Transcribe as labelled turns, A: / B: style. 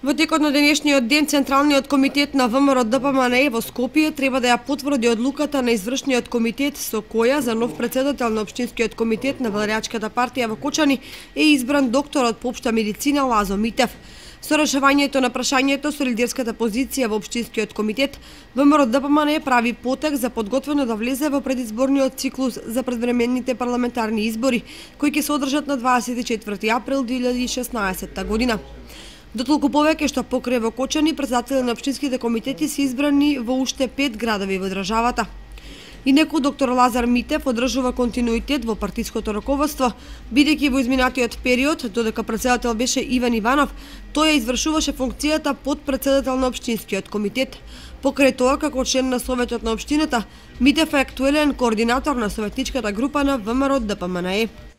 A: Во текот на денешниот ден, Централниот комитет на ВМРО ДПМНЕ во Скопје треба да ја потврди одлуката на извршниот комитет со која за нов претседател на Општинскиот комитет на Веларячката партија во Кочани е избран докторот по општа медицина Лазо Митев. Со решавањето на прашањето со лидерската позиција во Општинскиот комитет, ВМРО ДПМНЕ прави потек за подготвено да влезе во предизборниот циклус за предвременните парламентарни избори, кои ќе се одржат на 24 април 2016 година. Дотолку повеќе што покрај во Кочани, претседатели на општинските комитети се избрани во уште 5 градови во државата. Инеку доктор Лазар Митев одржува континуитет во партиското раководство, бидејќи во изминатиот период, додека претседател беше Иван Иванов, тој ја извршуваше функцијата подпредседател на Општинскиот комитет. Покрај тоа, како член на Советот на општината, Митев е актуелен координатор на советничката група на ВМРО ДПМНЕ.